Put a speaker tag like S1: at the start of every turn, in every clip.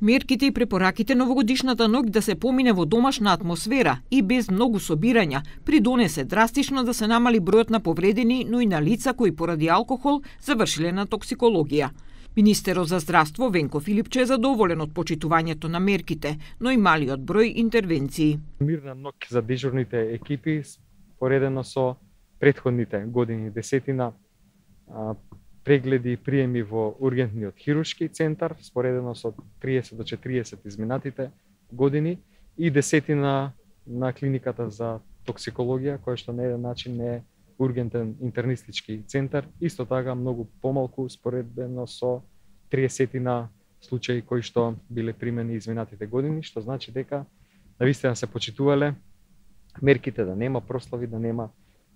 S1: Мерките и препораките новогодишната ноќ да се помине во домашна атмосфера и без многу собирања придонесе драстично да се намали бројот на повредени, но и на лица кои поради алкохол завршиле на токсикологија. Министерот за здравство Венко Филипче е задоволен од почитувањето на мерките, но и малиот број интервенции.
S2: Мирна ноќ за дежурните екипи споредено со претходните години, десетина прегледи и приеми во ургентниот хируршки центар, споредено со 30 до 40 изминатите години и десетина на клиниката за токсикологија, која што на еден начин не е ургентен интернистички центар, исто така многу помалку споредено со 30 случаи кои што биле примени изминатите години, што значи дека навистина се почитувале мерките, да нема прослави, да нема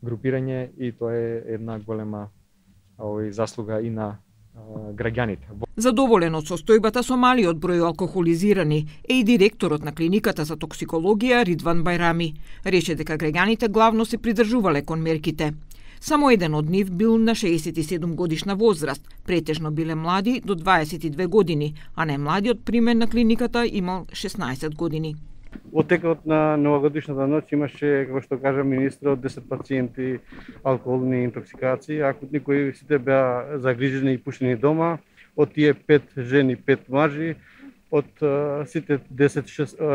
S2: групирање, и тоа е една голема заслуга и на граѓаните.
S1: Задоволен од состојбата со малиот број алкохолизирани е и директорот на клиниката за токсикологија Ридван Бајрами. Рече дека граѓаните главно се придржувале кон мерките. Само еден од нив бил на 67 годишна возраст, претежно биле млади до 22 години, а најмладиот примен на клиниката имал 16 години.
S3: Во текот на новогодишната ноќ имаше, како што кажа министрот, 10 пациенти алкохолни интоксикации, акутни кои сите беа загрижени и пуштени дома. Од тие 5 жени, 5 мажи, од сите 10,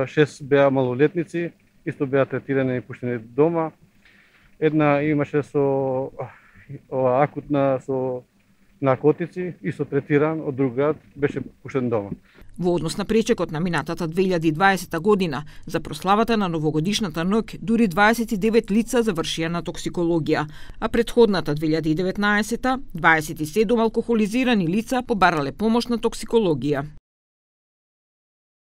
S3: 6 беа малолетници, исто беа третирани и пуштени дома. Една имаше со акутна со наркотици, исто третиран, од друг град беше пуштен дома.
S1: Во однос на пречекот на минатата 2020 година, за прославата на новогодишната ноќ, дури 29 лица завршија на токсикологија, а претходната 2019 27 алкохолизирани лица побарале помош на токсикологија.